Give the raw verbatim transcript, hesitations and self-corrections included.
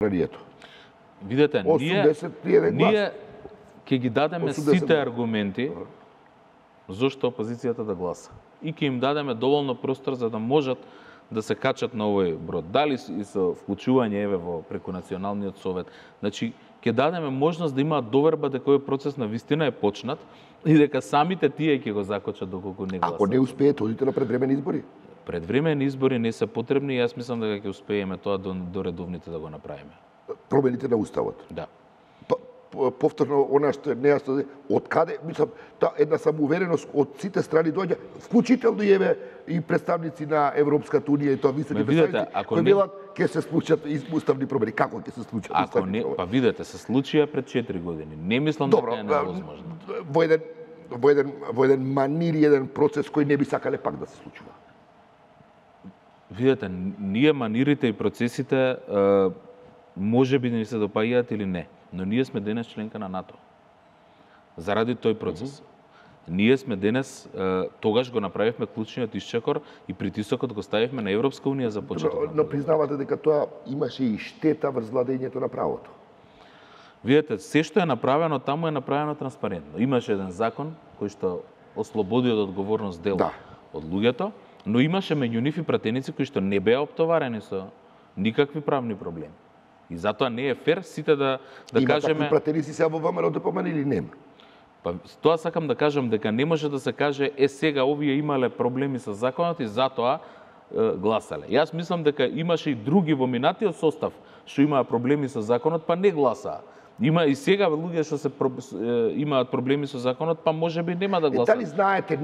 Ранието. Видете, ние, ние ќе ги дадеме сите аргументи зошто опозицијата да гласа. И ќе им дадеме доволно простор за да можат да се качат на овој брод. Дали и со вклучување еве во преку Националниот совет. Значи, ќе дадеме можност да имаат доверба дека овој процес на вистина е почнат и дека самите тие ќе го закочат доколку не гласат. Ако не успеете, одите на предвремени избори. Предвремени избори не се потребни и јас мислам дека ќе успееме тоа до, до редовните да го направиме. Промените на уставот. Да. Па, повторно, она што е нејасно, од каде, мислам, та една самоувереност од сите страни доаѓа, вклучително и еве и представници на Европската унија и тоа високи представници, кои велат ќе се случат уставни промени. Како ќе се случат ако уставни не, промени? Па видете, се случија пред четири години. Не мислам Добро, дека е невозможно. Во еден во еден во еден манир и еден процес кој не би сакале пак да се случува. Видете, ние манирите и процесите може би не се допаѓаат или не, но ние сме денес членка на НАТО. Заради тој процес. Mm -hmm. Ние сме денес, тогаш го направивме клучниот исчекор и притисокот го ставивме на Европска унија за почеток. Но, но признавате дека тоа имаше и штета врз владењето на правото. Видете, се што е направено таму е направено транспарентно. Имаше еден закон кој што ослободи од одговорност дел да. од луѓето, но имаше меѓу нив и пратеници кои што не беа оптоварени со никакви правни проблеми. И затоа не е фер сите да да Има кажеме. Има такви пратеници се во ВМРО да помани или нема? Па тоа сакам да кажам дека не може да се каже е сега овие имале проблеми со законот и затоа е, гласале. Јас мислам дека имаше и други во минатиот состав што имаа проблеми со законот, па не гласаа. Има и сега луѓе што се имаат проблеми со законот, па можеби нема да гласаат. Е, дали знаете